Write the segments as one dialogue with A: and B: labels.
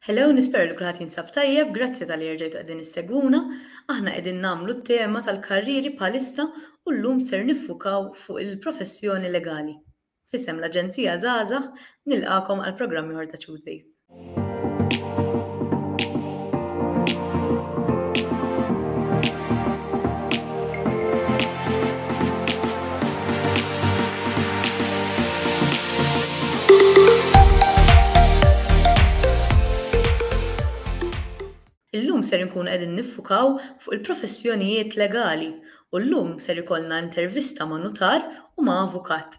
A: Hello, nispera li kulħadd jinsab tajjeb, grazzi talli erġajtu qegħdin issegwuna. Aħna qegħdin nagħmlu t-tema tal-karrieri bħalissa u llum ser niffukaw fuq il-professjoni legali. F'isem l-Aġenzija Żgħażagħ nilqagħkom għal programm ieħor ta' Tuesdays. Illum ser inkunu qegħdin niffukaw fuq il-professjonijiet legali u llum ser ikollna intervista ma' nutar u ma' avukat.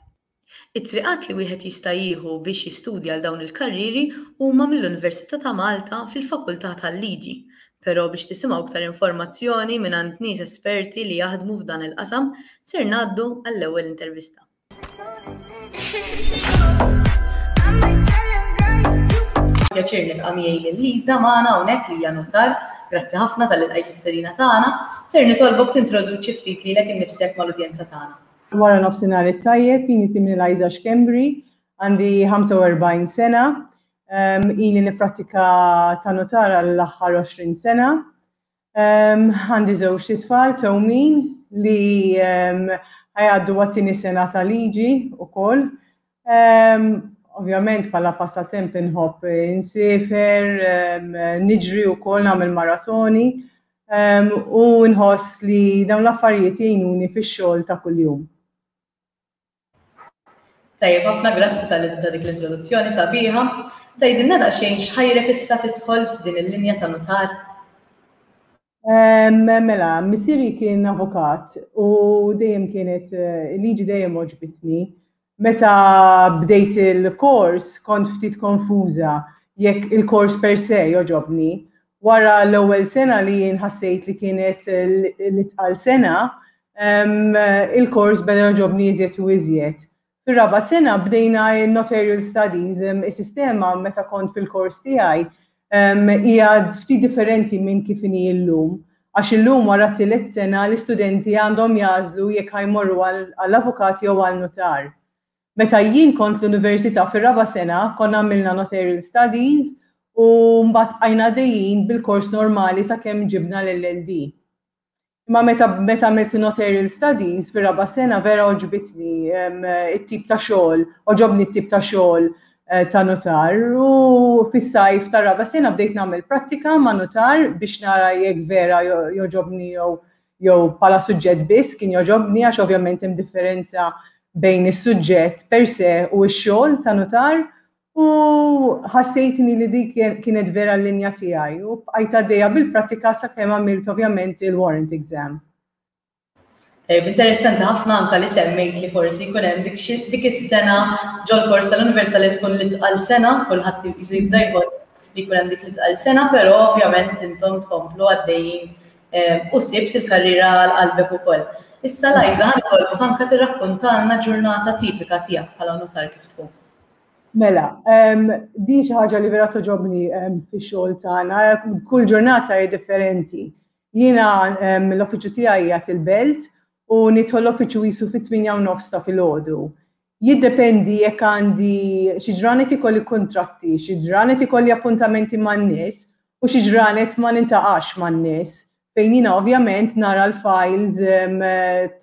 A: It-triqat li wieħed jista' jieħu biex jistudja għal dawn il-karrieri huma mill-Università ta' Malta fil-Fakultà tal-Liġi. Però biex tisimgħu iktar informazzjoni mingħand nies esperti li jaħdmu f'dan il-qasam, ser ngħaddu għall-ewwel intervista. Pjaċir nilqa' miegħi lil Liza magħna hawnhekk li hija nutar. Grazzi ħafna talli lqajt l-istedina tagħna. Ser nitolbok tintroduċi ftit lilek innifsek mal-udjenza tagħna.
B: Wara nofsinhar it-tajjeb, jien isimni Liza Schembri, għandi 45 sena, ili nipprattika ta' nutar għall-aħħar 20 sena. Għandi żewġt itfal tewmin li ħa jgħaddu għat-tieni sena ta' liġi wkoll. Ovvjament bħala passatemp inħobb insiefer, niġri wkoll nagħmel maratoni u nħoss li dawn l-affarijiet jgħinuni fix-xogħol ta' kuljum.
A: Tajjeb ħafna, grazzi ta' dik l-introduzzjoni sabiħa. Tgħidilna daqsxejn x'ħajrek issa tidħol f'din il-linja ta' nutar?
B: Mela, missieri kien avukat u dejjem kienet il-liġi dejjem għoġbitni. Meta bdejt il-kors kont ftit konfuża jekk il-kors per se jogħġobni. Wara l-ewwel sena li jien ħassejt li kienet l-itqal sena, il-kors beda jogħġobni iżjed u iżjed. Fir-raba' sena bdejna n-notarial studies, is-sistema meta kont fil-kors tiegħi hija ftit differenti minn kif inhi llum. Għax illum wara t-tielet sena l-istudenti għandhom jagħżlu jekk ħa jmorru għall-avukat jew għal nutar. Meta jien kont l-università fir-raba' sena konna għamilna notarial studies u mbagħad bqajna għaddejjin bil-kors normali sakemm ġibna l-LLD. Imma meta meta għamilt notarial studies fir-raba' sena vera għoġbitni it-tip ta' xogħol, għoġobni t-tip ta' xogħol eh, ta' nutar u fis-sajf tar-raba' sena bdejt nagħmel prattika ma' nutar biex nara jekk vera jogħġobni jew jew bħala suġġett biss kien jogħġobni għax ovvjament hemm differenza bejn is-suġġett per se u x-xogħol ta' nutar u ħassejtni li dik kienet vera l-linja tiegħi u bqajt għaddejja bil-prattika sakemm għamilt ovvjament il-warrant exam.
A: Tajjeb, interessanti ħafna anka li semmejt li forsi jkun hemm dik is-sena ġol-kors tal-Università li tkun l-itqal sena, kulħadd jisu jibda jħoss li jkun hemm dik l-itqal sena, però ovvjament intom tkomplu għaddejjin u sibt il-karriera għal qalbek ukoll. Issa Lajza ħa nitolbok anke tirrakkuntalna ġurnata tipika tiegħek bħala nutar kif tkun.
B: Mela, din xi ħaġa li vera toġobni fix-xogħol tagħna, kull ġurnata hija differenti. Jiena l-uffiċċju tiegħi qiegħed il-Belt u nidħol l-uffiċċju qisu fit-8 u nofs ta' filgħodu. Jiddependi jekk għandi xi ġranet ikolli kuntratti, xi ġranet ikolli appuntamenti man-nies u xi ġranet ma nintaqax man-nies fejn jiena ovvjament nara l-files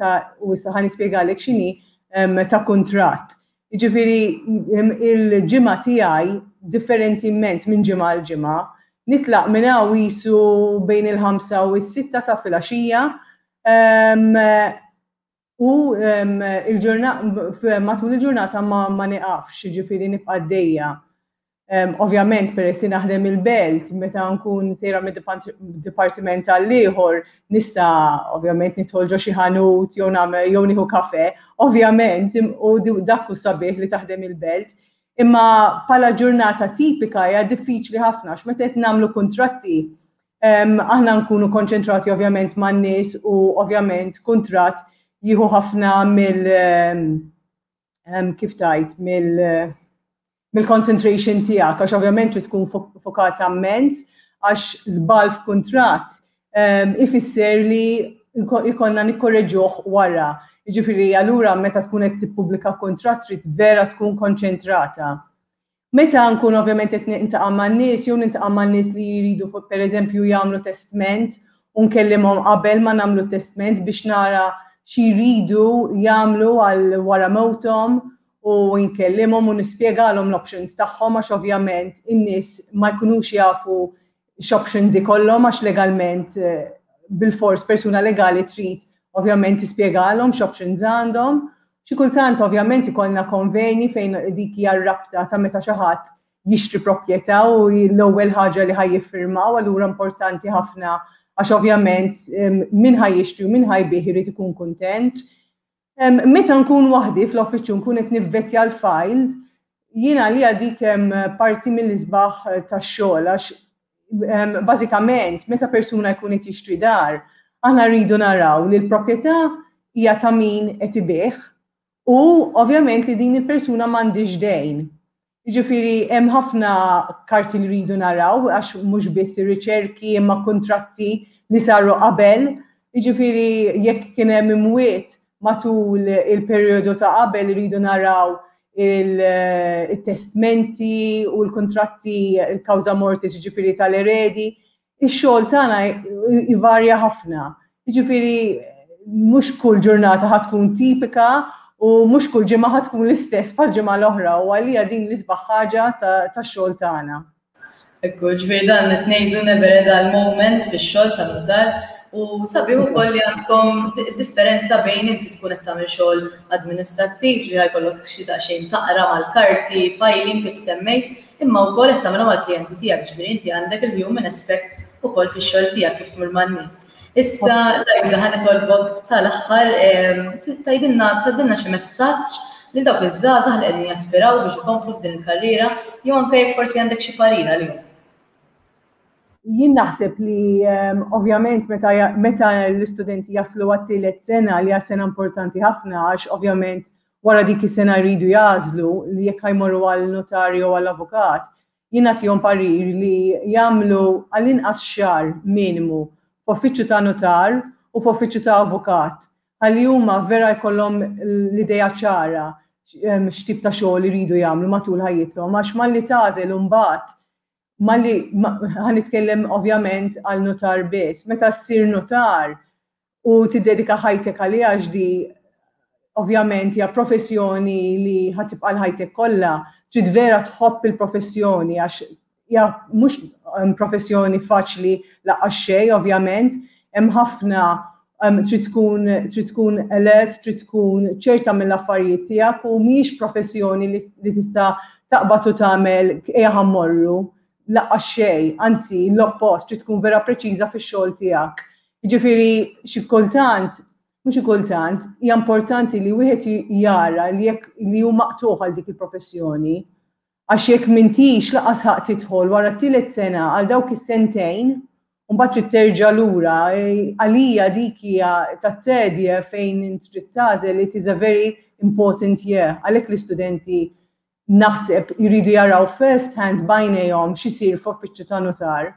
B: ta' u issa ħa nispjegalek x'inhi ta' kuntratt. Jiġifieri il-ġimgħa tiegħi differenti immens minn ġimgħa għal ġimgħa. Nitlaq minn hawn qisu bejn il-ħamsa u s-sitta ta' filgħaxija U matul il-ġurnata ma niqafx, jiġifieri nibqa' għaddejja. Ovvjament peress li naħdem il-belt, meta nkun sejra mid-dipartiment għall-ieħor, nista' ovvjament nidħol ġo xi ħanut jew nagħmel jew nieħu kafè, ovvjament u dak hu sabiħ li taħdem il-belt. Imma bħala ġurnata tipika hija diffiċli ħafna għax meta qed nagħmlu kuntratti Aħna nkunu konċentrati ovvjament man-nies u ovvjament kuntratt jieħu ħafna mill kif tajt mill mill-concentration tiegħek għax ovvjament trid tkun fokata immens għax żball f'kuntratt ifisser li jkollna nikkorreġuh wara. Jiġifieri allura meta tkun qed tippubblika kuntratt trid vera tkun konċentrata. Meta nkun ovvjament qed nintaqa' man-nies jew nintaqa' man-nies li jridu pereżempju jagħmlu testment u nkellimhom qabel ma nagħmlu testment biex nara xi jridu jagħmlu għal wara mewthom u nkellimhom u nispjegalhom l-options tagħhom għax ovvjament in-nies ma jkunux jafu x'options ikollhom għax legalment eh, bilfors persuna legali trid ovvjament tispjegalhom x'options għandhom. Xi kultant ovvjament ikollna konveni fejn dik hija r-rabta ta' meta xi ħadd jixtri proprjetà u l-ewwel ħaġa li ħaj jiffirmaw allura importanti ħafna għax ovvjament min ħaj jixtri u min ħaj bih irid ikun kuntent. Meta nkun waħdi fl-uffiċċju nkun qed nivvettja l-files, jiena li dik parti mill-isbaħ tax-xogħol għax bażikament meta persuna jkun qed jixtri dar, aħna rridu naraw li l-proprjetà hija ta' min qed ibigħ u ovvjament li din il-persuna m'għandix dejn. Jiġifieri hemm ħafna karti li rridu naraw għax mhux biss ir-riċerki imma kuntratti li saru qabel. Jiġifieri jekk kien hemm imwiet matul il-perjodu ta' qabel iridu naraw il-testmenti u l-kuntratti il-kawża mortis jiġifieri tal-eredi. Ix-xogħol tagħna jvarja ħafna. Jiġifieri mhux kull ġurnata ħa tkun tipika u mhux kull ġimgħa ħa tkun l-istess bħal ġimgħa l-oħra u għalija din l-isbaħ ħaġa tax-xogħol tagħna.
A: Ekku, ġifieri dan qed ngħidu never a dull moment fix-xogħol tan-nutar u sabiħ ukoll li għandkom differenza bejn inti tkun qed tagħmel xogħol administrattiv, ġifieri ħajkollok xi daqsxejn taqra mal-karti, filing kif semmejt, imma wkoll qed tagħmilha mal-klijenti tiegħek, ġifieri inti għandek il-human aspect ukoll fix-xogħol tiegħek kif tmur man-nies. Issa, Liza, ħa nitolbok tal-aħħar tgħidilna tgħaddilna xi messaġġ lil dawk iż-żgħażagħ li qegħdin jaspiraw biex ikomplu f'din il-karriera jew anke jekk forsi għandek xi parir għalihom.
B: Jien naħseb li ovvjament meta, meta l-istudenti jaslu għat-tielet sena li hija sena importanti ħafna għax ovvjament wara dik is-sena jridu jagħżlu li jekk jmorru għal notar jew għal avukat, jien nagħtihom parir li jagħmlu għall-inqas xahar minimu f'uffiċċju ta' notar u f'uffiċċju ta' avukat ħalli huma vera jkollhom l-idea ċara x'tip ta' xogħol iridu jagħmlu matul ħajjithom għax malli tagħżel imbagħad malli ħa nitkellem ovvjament għal notar biss, meta ssir notar u tiddedika ħajtek għaliha għax di ovvjament hija professjoni li ħa tibqa' l-ħajtek kollha, trid vera tħobb il-professjoni għax hija mhux um, professjoni faċli laqqas xejn ovvjament, hemm ħafna um, trid tkun trid tkun alert, trid tkun ċerta mill-affarijiet tiegħek u mhijiex professjoni li, li tista' taqbad u tagħmel ejja ħammorru laqqas xejn, anzi l-oppost trid tkun vera preċiża fix-xogħol tiegħek. Jiġifieri xi kultant, mhux xi kultant, hija importanti li wieħed jara li jekk li hu maqtugħ għal dik il-professjoni. Għax jekk m'intix laqas ħaqq tidħol wara t-tielet sena għal dawk is-sentejn, u mbagħad trid terġa' lura, għalija dik hija tat-third year fejn int trid tagħżel it is a very important year. Għalhekk l-istudenti naħseb jridu jaraw first hand b'għajnejhom x'isir f'uffiċċju ta' nutar.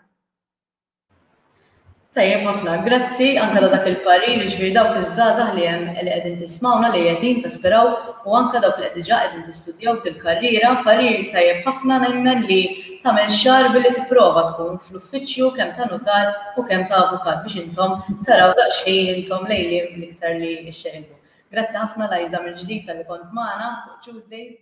A: Tajjeb ħafna, grazzi anke ta' dak il-parir, jiġifieri dawk iż-żgħażagħ li hemm li qegħdin tismawna li qegħdin taspiraw u anke dawk li qed diġà qegħdin tistudjaw f'dil-karriera, parir tajjeb ħafna nemmen li tagħmel xahar billi tipprova tkun fl-uffiċċju kemm ta' nutar u kemm ta' avukat biex intom taraw daqsxejn intom lejn liem l-iktar li xxeqilbu. Grazzi ħafna Liza mill-ġdid talli kont magħna fuq Tuesdays.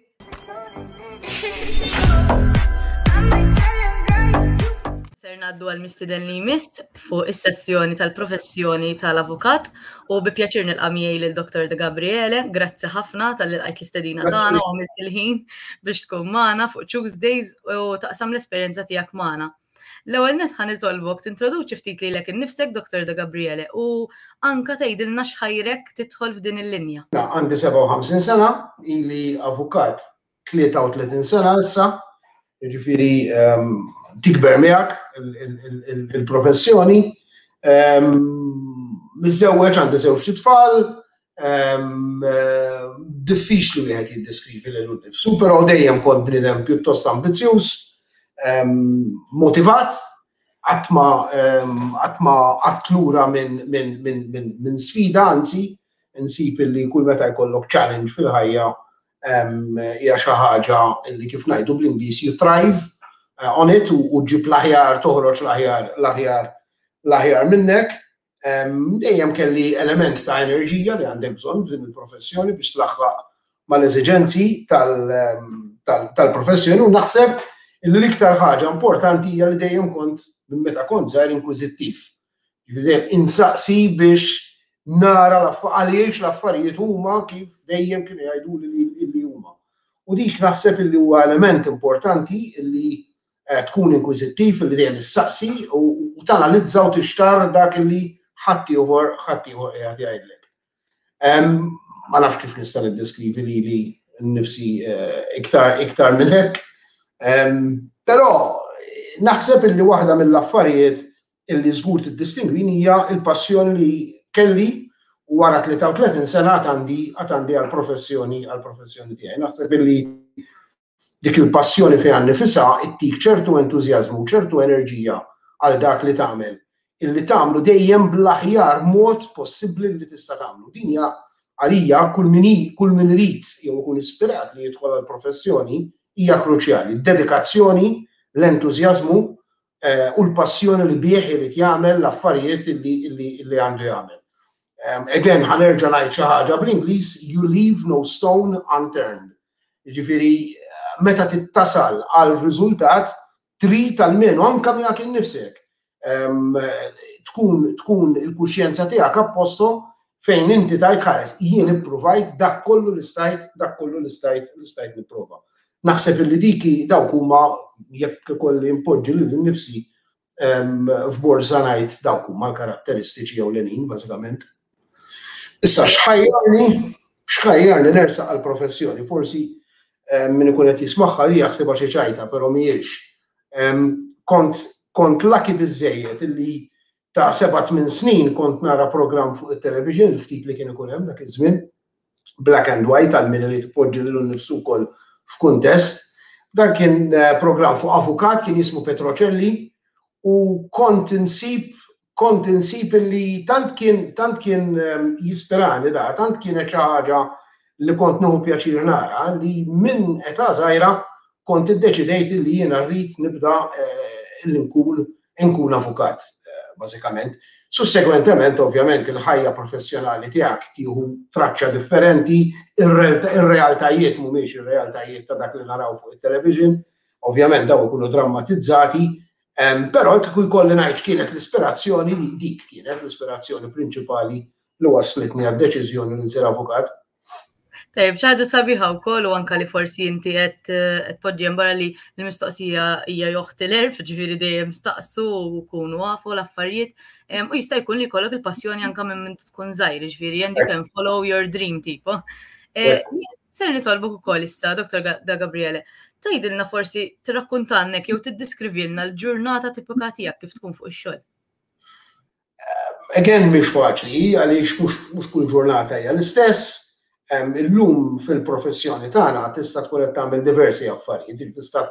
A: Ser naddu għal mistiden li jmiss fuq is-sessjoni tal-professjoni tal-avukat u bi pjaċir nilqa' miegħi lil Dr. De Gabriele. Grazzi ħafna tal-li lqajt l-istedina tagħna u għamilt il-ħin biex tkun magħna fuq Tuesdays u taqsam l-esperjenza tiegħek magħna. L-ewwel nett ħa nitolbok tintroduċi ftit lilek innifsek Dr. De Gabriele u anka tgħidilna x'ħajrek tidħol f'din il-linja.
C: Għandi 57 sena, ili avukat 33 sena issa, jiġifieri ehm, tikber miegħek il-professjoni. Ehm, miżżewweġ għandi żewġ tfal, ehm, diffiċli wieħed jiddeskrivi lilu nnifsu, però dejjem kont bniedem pjuttost ambizzjuż, motivat, qatt ma qatt ma qatt lura minn min, min, min, min sfida, anzi, nsib li kull meta jkollok challenge fil-ħajja. Hija xi ħaġa li kif ngħidu bl-Ingliż you thrive eh, on it u ġib l-aħjar, toħroġ l-aħjar, l-aħjar, l-aħjar minnek. Dejjem kelli element ta' enerġija li għandek bżonn f'din il-professjoni biex tlaħħaq mal-eżiġenzi tal-professjoni u naħseb li l-iktar ħaġa importanti hija li dejjem kont minn meta kont żgħir inkwiżittiv. Dejjem insaqsi biex nara għaliex l-affarijiet huma kif dejjem kienu jgħiduli li huma. U dik naħseb li huwa element importanti li eh, tkun inkwiżittiv li dejjem issaqsi u tanalizza u tixtar dak li ħaddieħor ħaddieħor qiegħed jgħidlek. Ma nafx kif nista' niddeskrivi lili nnifsi eh, iktar iktar minn hekk. Però naħseb illi waħda mill-affarijiet illi żgur tiddistingwini hija l-passjoni li kelli u wara 33 sena għad għandi għall-professjoni għall-professjoni tiegħi. Naħseb illi Dik il-passjoni fiha nnifisha ttik ċertu entużjażmu u ċertu enerġija għal dak li tagħmel, illi tagħmlu dejjem bl-aħjar mod possibbli li tista' tagħmlu. Din hija għalija kull min kull min irid jew ikun ispirat li jidħol għall-professjoni hija kruċjali. Id-dedikazzjoni, l-entużjażmu eh, u l-passjoni li bih irid jagħmel l-affarijiet illi għandu jagħmel. Again, ħanerġa' ngħid xi ħaġa bl-Ingliż, you leave no stone unturned. Jiġifieri meta tittasal għal riżultat trid almenu anke miegħek innifsek tkun tkun il-kuxjenza tiegħek apposto fejn inti tajt ħares jien ippruvajt dak kollu li stajt dak kollu li stajt li stajt nipprova. Naħseb illi diki dawk huma jekk ikolli npoġġi lil innifsi f'borża ngħid dawk huma l-karatteristiċi ewlenin bażikament. Issa x'ħajjarni x'ħajjarni nersaq għall-professjoni, forsi min ikun qed jismagħha li jaħsibha xi ċajta, però mhijiex. Kont kont lucky biżejjed illi ta' 7-8 snin kont nara programm fuq it-television, il-ftit li kien ikun hemm dak iż-żmien, black and white għal min irid ipoġġi lilu nnifsu wkoll f'kuntest. Dan kien eh, programm fuq avukat kien jismu Petrocelli u kont insib kont insib li tant kien tant kien ehm, jispirani da, tant kienet xi ħaġa li kont nieħu pjaċir nara li minn età żgħira kont iddeċidejt li jiena rrid nibda eh, li nkun nkun avukat eh, bażikament. Sussegwentement, ovvjament, il-ħajja professjonali tiegħek tieħu traċċa differenti, ir-realtajiet mhumiex ir-realtajiet ta' dak li naraw fuq it-television, ovvjament daw ikunu drammatizzati, però kieku jkolli ngħid kienet l-ispirazzjoni li dik kienet l-ispirazzjoni prinċipali li waslitni għad-deċiżjoni li nsir avukat.
A: Tajjeb, ħaġa sabiħa wkoll u anka li forsi inti qed eh, tpoġġi barra li l-mistoqsija hija joħti l-erf, ġifieri dejjem staqsu u kunu għafu l-affarijiet. U jista' jkun li jkollok il-passjoni anka minn minn tkun żgħir, ġifieri and you can follow your dream tipo. Eh, ser nitolbuk ukoll issa, Dr. Da Gabriele, tgħidilna forsi tirrakkuntalnek jew tiddiskrivilna l-ġurnata tipika tiegħek kif tkun fuq ix-xogħol.
C: Eh, again, mhix faċli, għaliex mhux kull ġurnata hija l-istess. Illum fil-professjoni tagħna tista' tkun qed tagħmel diversi affarijiet, tista'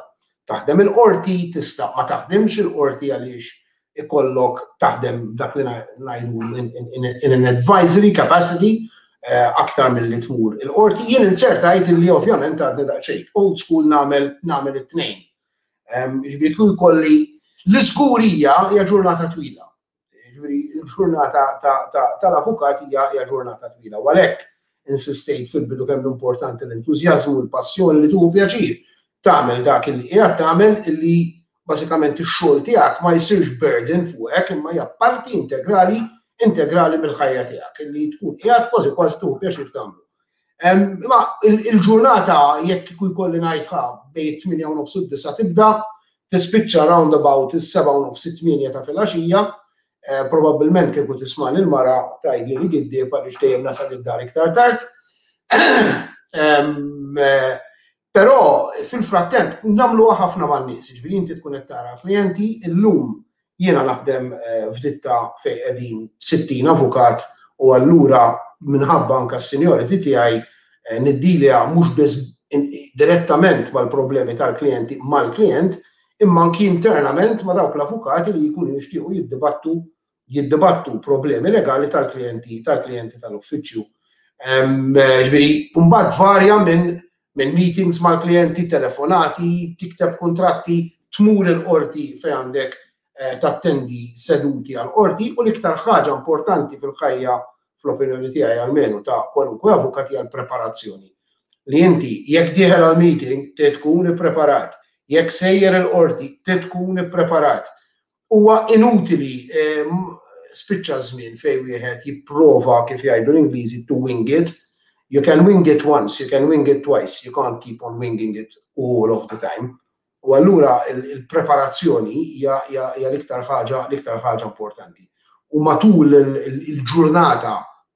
C: taħdem il-qorti, tista' ma taħdimx il-qorti għaliex ikollok taħdem dak li ngħidu in an advisory capacity eh, aktar milli tmur il-qorti. Jien insertajt li ovvjament għadni daqsxejn old school nagħmel nagħmel it-tnejn. Ġifieri tkun kolli l-iżgurija hija ġurnata twila. Ġifieri l-ġurnata tal-avukat hija ġurnata twila. U għalhekk insistejt fil-bidu kemm importanti l-entużjażmu, l-passjoni li tuħu pjaċir tagħmel dak li qiegħed tagħmel illi bażikament ix-xogħol tiegħek ma jsirx burden fuqek imma hija parti integrali integrali mill-ħajja tiegħek illi tkun qiegħed kważi kważi tuħu pjaċir tagħmlu. Imma il-ġurnata jekk kieku jkolli ngħid ħa bejn it-tmienja u nofs u d-disa' tibda, tispiċċa round about is-sebgħa u nofs it-tmienja ta' filgħaxija, eh, probabbilment kieku tismani l-mara tgħidli li giddieb għaliex dejjem nasal id-dar iktar tard. Eh, però fil-frattemp nagħmluha ħafna man-nies, jiġifieri inti tkun qed tara klijenti illum Jiena naħdem f'ditta fejn qegħdin 60 avukat u allura minħabba anke s-seniority tiegħi niddilja mhux biss direttament mal-problemi tal-klijenti mal-klijent, imma anki internament ma' dawk l-avukati li jkunu jixtiequ jiddibattu jiddibattu problemi legali tal-klijenti tal-klijenti tal-uffiċċju. Ġifieri, mbagħad varja minn minn meetings mal-klijenti, telefonati, tikteb kuntratti, tmur il-qorti fejn għandek eh, tattendi seduti għal-qorti u l-iktar ħaġa importanti fil-ħajja fl-opinjoni tiegħi almenu ta' kwalunkwe avukat hija l-preparazzjoni. Li inti jekk dieħel għal meeting te tkun ippreparat, jekk sejjer il-qorti te tkun ippreparat. Huwa inutili eh, spiċċa żmien fejn wieħed jipprova kif jgħidu l-Ingliżi to wing it. You can wing it once, you can wing it twice, you can't keep on winging it all of the time. U allura il-preparazzjoni hija l-iktar ħaġa l-iktar ħaġa importanti. U matul il-ġurnata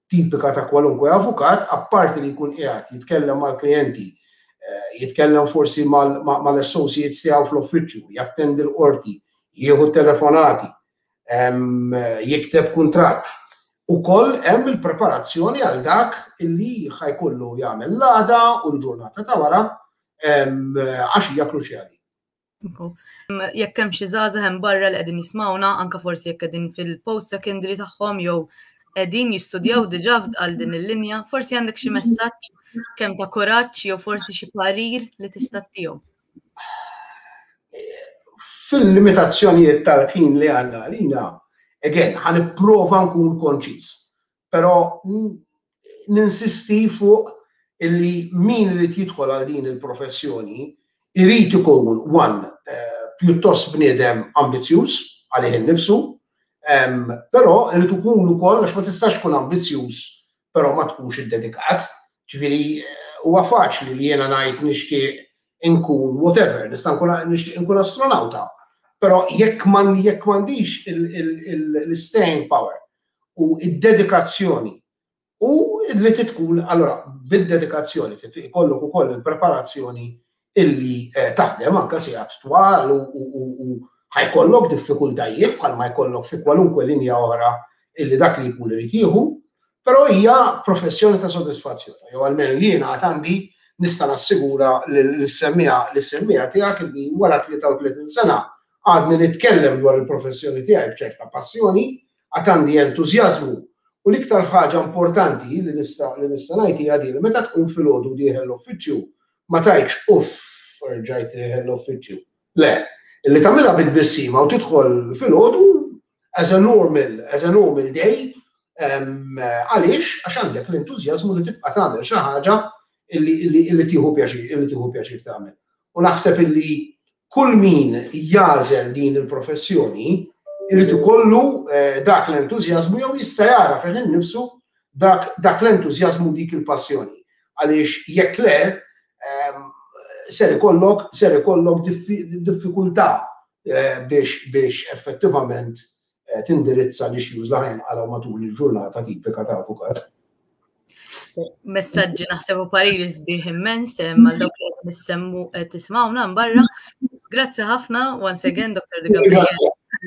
C: tipika ta' kwalunkwe avukat, apparti li jkun qiegħed jitkellem mal-klijenti, eh, jitkellem forsi mal-associates tiegħu fl-uffiċċju, jattendi l-qorti, jieħu telefonati, jikteb kuntratt. Ukoll hemm il-preparazzjoni għal dak illi ħajkollu jagħmel l-għada u l-ġurnata ta' wara għax hija kruċjali.
A: Jekk hemm xi żgħażagħ hemm barra li qegħdin jismawna, anke forsi jekk qegħdin fil-post secondary tagħhom jew qegħdin jistudjaw diġà għal din il-linja, forsi għandek xi messaġġ kemm ta' kuraġġ jew forsi xi parir li tista' tihom.
C: Fil-limitazzjonijiet tal-ħin li għandna għalina, again, ħa nipprova nkun konċiż. Però ninsisti fuq illi min irid jidħol għal din il-professjoni irid ikun one eh, pjuttost bniedem ambizzjuż għalih innifsu, però irid ikun ukoll għax ma tistax tkun ambizzjuż però ma tkunx iddedikat. Ġifieri eh, huwa faċli li jiena ngħid nixtieq inkun whatever, nista' nkun nixtieq inkun astronauta. Però jekk jekk m'għandix l-staying power u id-dedikazzjoni u li tkun allora bid-dedikazzjoni ikollok ukoll il-preparazzjoni illi eh, taħdem anke sigħat twal u ħajkollok diffikultajiet bħalma jkollok fi kwalunkwe linja oħra illi dak li jkun irid jieħu, però hija professjoni ta' sodisfazzjoni. Jew almenu jiena għad għandi nista' nassigura lis-semmiegħa lis-semmiegħa tiegħek illi wara 33 sena għadni nitkellem dwar il-professjoni tiegħi b'ċerta passjoni, għad għandi entużjażmu u l-iktar ħaġa importanti li nista' li nista' ngħid hija din li meta tqum filgħodu dieħel l-uffiċċju ma tgħidx uff rġajt dieħel l-uffiċċju. Le, illi tagħmilha bi tbissima u tidħol filgħodu as a normal, as a normal day, għaliex għax għandek l-entużjażmu li tibqa' tagħmel xi ħaġa illi tieħu pjaċir, illi tieħu pjaċir tagħmel. U naħseb illi kull min jagħżel din il-professjoni irid ikollu eh, dak l-entużjażmu jew jista' jara fih innifsu dak, dak l-entużjażmu dik il-passjoni. Għaliex jekk le, ehm, ser ikollok ser ikollok diffikultà eh, biex biex effettivament eh, tindirizza l-issues li ħajnqalgħu matul il-ġurnata tipika ta' avukat.
A: Messaġġi naħseb u pariri sbieħ immens eh, mal dawk li qed nissemmu qed tismawna barra. Grazzi ħafna once again Dr. De Gabriel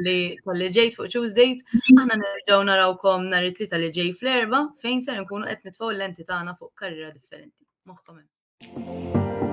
A: li tal-li ġejt fuq Tuesdays. Aħna nerġgħu narawkom nhar it-tlieta li ġej fl-erba' fejn ser nkunu qed nitfgħu l-lenti tagħna fuq karriera differenti. Moħħkom hemm.